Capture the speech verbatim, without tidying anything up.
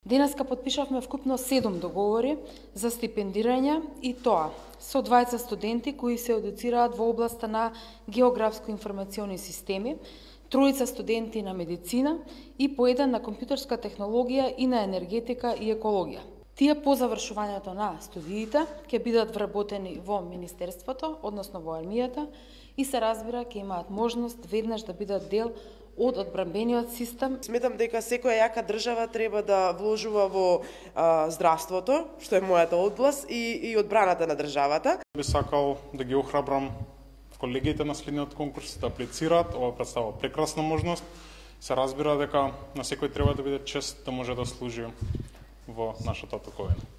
Денеска подпишавме вкупно седум договори за стипендирање и тоа со дваесет студенти кои се едуцираат во областа на географско-информациони системи, тројца студенти на медицина и по еден на компјутерска технологија и на енергетика и екологија. Тие по завршувањето на студиите ќе бидат вработени во Министерството, односно во армијата, и се разбира ќе имаат можност веднаш да бидат дел од одбранбениот систем. Сметам дека секоја јака држава треба да вложува во а, здравството, што е мојата област, и, и одбраната на државата. Би сакал да ги охрабрам колегите на следниот конкурс да аплицираат. Ова представува прекрасна можност. Се разбира дека на секој треба да биде чест да може да служи во нашата токовина.